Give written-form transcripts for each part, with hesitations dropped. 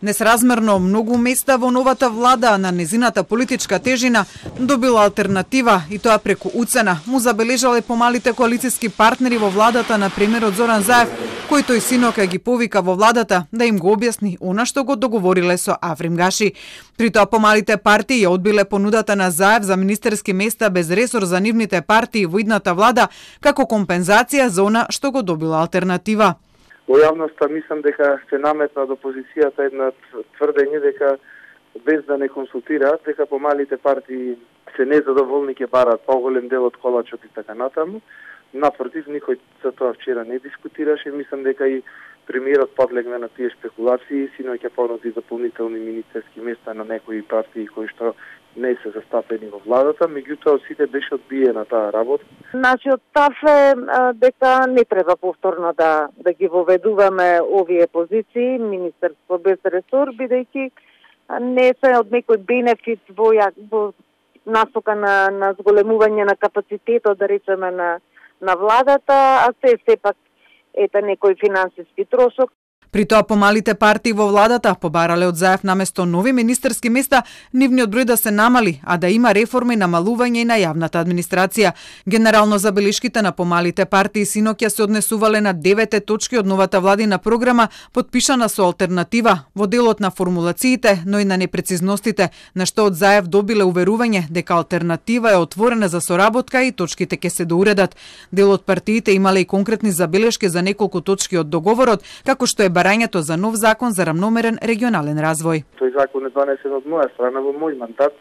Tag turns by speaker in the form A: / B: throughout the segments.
A: Несразмерно многу места во новата влада на незината политичка тежина добила алтернатива и тоа преку уцена, му забележале помалите коалициски партнери во владата на премиерот Зоран Заев, кој тој синока ги повика во владата да им го објасни она што го договориле со Африм Гаши. При тоа помалите партии ја одбиле понудата на Заев за министерски места без ресор за нивните партии во идната влада како компензација за она што го добила алтернатива.
B: Во јавноста мислам дека се наметна од опозицијата една тврдење дека без да не консултираат, дека помалите партии се незадоволни ќе барат поголем дел од колачот и така натаму. Напротив, никој за тоа вчера не дискутираше. Мислам дека и премиерот подлегна на тие спекулации, синоќа понуди дополнителни министерски места на некои партии кои што не се застапени во владата, меѓутоа од сите беше одбиена таа работа.
C: Нашиот став е дека не треба повторно да ги воведуваме овие позиции, министерство без ресор, бидејќи не се од некој бенефит во насока на зголемување на капацитетот, да речеме, на владата, а се сепак ете некој финансиски трошок.
A: При тоа помалите партии во владата побарале од Заев наместо нови министерски места нивниот број да се намали, а да има реформи, намалување и на јавната администрација. Генерално забелешките на помалите партии синоќа се однесувале на 9 точки од новата владина програма, подпишана со алтернатива во делот на формулациите, но и на непрецизностите, на што од Заев добиле уверување дека алтернатива е отворена за соработка и точките ќе се доуредат. Дел од партиите имале и конкретни забелешки за неколку точки од договорот, како што е барањето за нов закон за рамномерен регионален развој.
B: Тој закон е донесен од моја страна во мој мандат.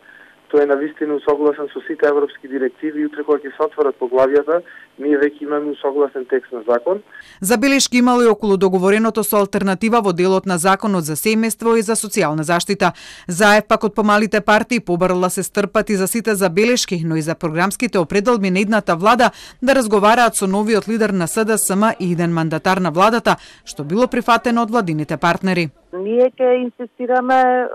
B: Тој е навистина усогласен со сите европски директиви и утре кога ќе се отворат поглавјата, ние веќе имаме усогласен текст на закон.
A: Забелешки имало и околу договореното со алтернатива во делот на законот за семејство и за социјална заштита. Заев пак од помалите партии побарала се стрпат и за сите забелешки, но и за програмските определби на идната влада да разговараат со новиот лидер на СДСМ и иден мандатар на владата, што било прифатено од владините партнери.
C: Ние ќе инсистираме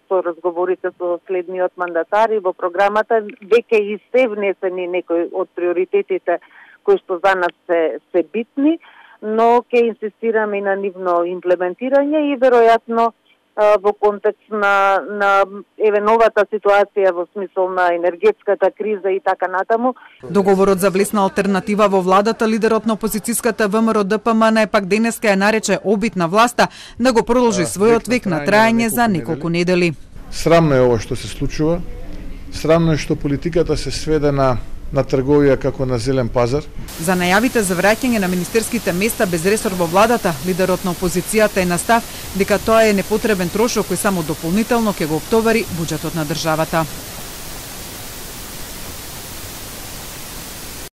C: со разговорите со следниот мандатар и во програмата веќе и се внесени некои од приоритетите кои што за нас се битни, но ќе инсистираме и на нивно имплементирање и веројатно во контекст на новата ситуација во смисол на енергетската криза и така натаму.
A: Договорот за влесна алтернатива во владата, лидерот на опозицијската ВМРО ДПМН пак денеска ја нарече обид на власта да го продолжи својот век на трајање за неколку недели.
D: Срамно е ова што се случува. Срамно е што политиката се сведе на трговија како на зелен пазар.
A: За најавите за враќање на министерските места без ресор во владата, лидерот на опозицијата е на став дека тоа е непотребен трошок кој само дополнително ќе го оптовари буџетот на државата.